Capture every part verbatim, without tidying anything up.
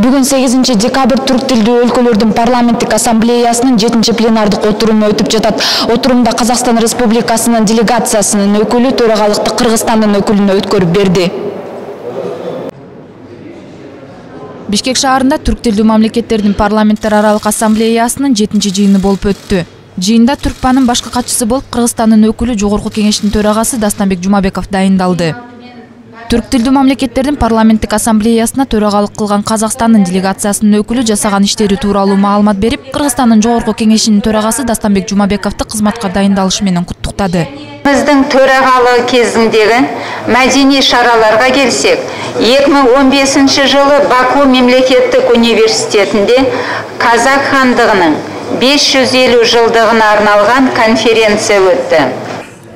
Бүгүн сегизинчи декабрь түрк тилдүү өлкөлөрдүн парламенттик ассамблеясынын жетинчи пленардык отуруму өтүп жатат. Отурумда Казакстан Республикасынын делегациясынын өкүлү төрагалыкты Кыргызстандын өкүлүнө өткөрүп берди. Бишкек шаарында түрк тилдүү мамлекеттердин парламенттер аралык ассамблеясынын жетинчи жыйыны болуп өттү. Жыйында Түркпанын башкы катчысы болуп Кыргызстандын өкүлү Жогорку кеңештин төрагасы Дастанбек Жумабеков дайындалды. Түрк тилдүү мамлекеттердин парламенттик ассамблеясына төрагалык кылган Казакстандын делегациясынын өкүлү жасаган иштери тууралуу маалымат берип, Кыргызстандын Жогорку кеңешинин төрагасы Дастанбек Жумабековду кызматка дайындалышы менен куттуктады. Биздин төрагалык кезиндеги маданий шараларга келсек, эки миң он бешинчи жылы Баку мемлекеттик университетинде Казак хандыгынын беш жүз элүү жылдыгына арналган конференция өттү.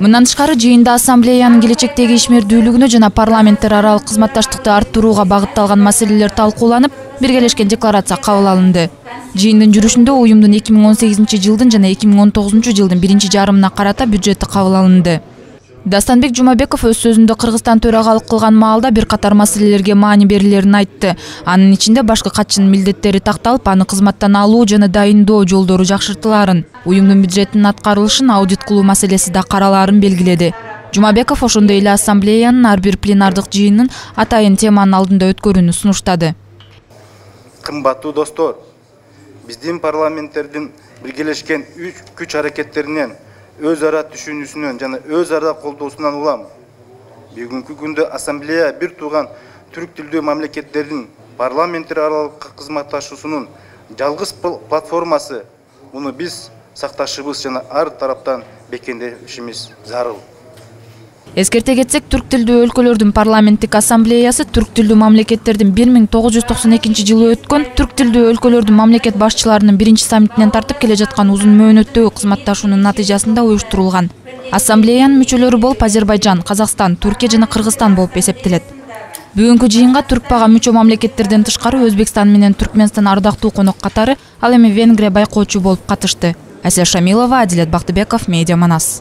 Мындан тышкары жыйында ассамблеянын келечектеги ишмердүүлүгүнө жана парламенттер аралык кызматташтыкты арттырууга багытталган маселелер талкууланып, биргелешкен декларация кабыл алынды. Жыйындын жүрүшүндө уюмдун эки миң он сегизинчи жылдын жана эки миң он тогузунчу жылдын биринчи жарымына карата бюджети кабыл алынды. Дастанбек Жумабеков өз сөзүндө Кыргызстан төрагалык кылган маалда бир катар маселелерге маани берилерин айтты. Анын ичинде башкы катчынын милдеттери такталып, аны кызматтан алуу жана дайындоо жолдору жакшыртылаарын, уюмдун бюджетинин аткарылышын аудит кылуу маселеси да каралаарын белгиледи. Жумабеков ошондой эле ассамблеянын ар бир пленардык жыйынын атайын теманын алдында өткөрүүнү сунуштады. Кымбаттуу достор, биздин парламенттердин биргелешкен күч аракеттеринен, өз ара түшүнүүсүнөн жана өз ара колдоосунан улам. Бүгүнкү күндө ассамблея бир тууган түрк тилдүү мамлекеттердин парламенттер аралык кызматташуусунун жалгыз платформасы. Муну биз сакташыбыз жана ар тараптан бекемдешибиз зарыл. Эскерте кетсек, түрк тилдүү өлкөлөрдүн парламенттик ассамблеясы түрк тилдүү мамлекеттердин бир миң тогуз жүз токсон экинчи жылы өткөн түрк тилдүү өлкөлөрдүн мамлекет башчыларынын биринчи саммитинен тартып келе жаткан узун мөөнөттөгү кызматташуунун натыйжасында уюштурулган. Ассамблеянын мүчөлөрү болуп Азербайжан, Казакстан, Түркия жана Кыргызстан болуп эсептелет. Бүгүнкү жыйынга Түркпага мүчө мамлекеттерден тышкары Өзбекстан менен Түркмөнстан ардактуу конок катары, ал эми Венгрия байкоочу болуп катышты. Асия Шамилова, Адилет Бактыбеков, Медиа Манас.